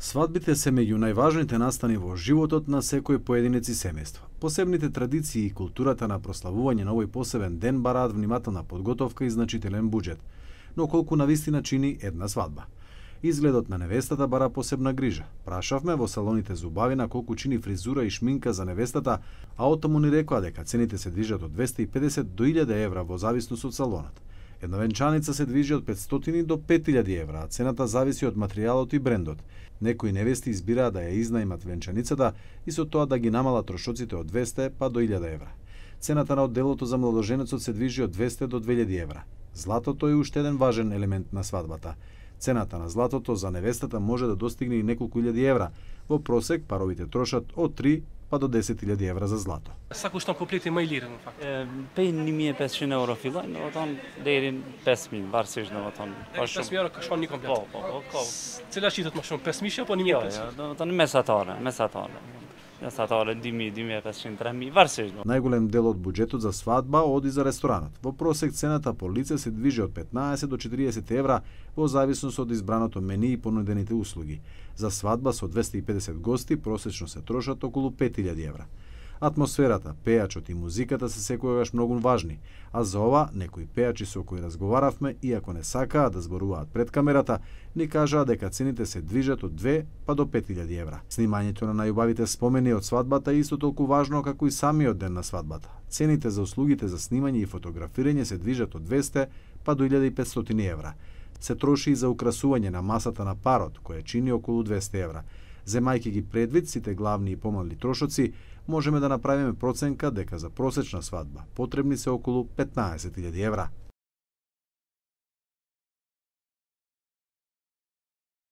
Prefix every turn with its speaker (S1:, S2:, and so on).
S1: Свадбите се меѓу најважните настани во животот на секој поединец и семејство. Посебните традиции и културата на прославување на овој посебен ден бараат внимателна подготовка и значителен буџет. Но колку навистина чини една свадба? Изгледот на невестата бара посебна грижа. Прашавме во салоните за убавина колку чини фризура и шминка за невестата, а отаму ни рекоа дека цените се движат од 250 до 1000 евра во зависност од салонот. Една венчаница се движи од 500 до 5000 евра, а цената зависи од материјалот и брендот. Некои невести избираат да ја изнајмат венчаницата и со тоа да ги намалат трошоците од 200 па до 1000 евра. Цената на одделото за младоженецот се движи од 200 до 2000 евра. Златото е уште еден важен елемент на свадбата. Цената на златото за невестата може да достигне и неколку илјади евра. Во просек паровите трошат од 3 па до 10.000 евра за zlato.
S2: Sa kushton kompleti më i lirë në fakt?
S3: Pej 1500 euro fillojnë, domethënë deri 5000, varësisht domethënë.
S2: 5000 euro ka shkon një komplet.
S3: Po.
S2: Cila shitet më shumë, 5000 apo 1500?
S3: Jo, domethënë mesatare. Mesatare 2000, 2500, 3000, varësisht.
S1: Најголем дел од буџетот за свадба оди за ресторанот. Во просек цената по лице се движи од 15 до 40 евра во зависност од избраното мени и понудените услуги. За свадба со 250 гости просечно се трошат околу 5000 евра. Атмосферата, пејачот и музиката се секогаш многу важни, а за ова некои пејачи со кои разговаравме, иако не сакаат да зборуваат пред камерата, ни кажаа дека цените се движат од 2 па до 5000 евра. Снимањето на најубавите спомени од свадбата е исто толку важно како и самиот ден на свадбата. Цените за услугите за снимање и фотографирање се движат од 200 па до 1500 евра. Се троши и за украсување на масата на парот, која чини околу 200 евра. Земајќи ги предвид сите главни и помални трошоци, можеме да направиме проценка дека за просечна свадба потребни се околу 15.000 евра.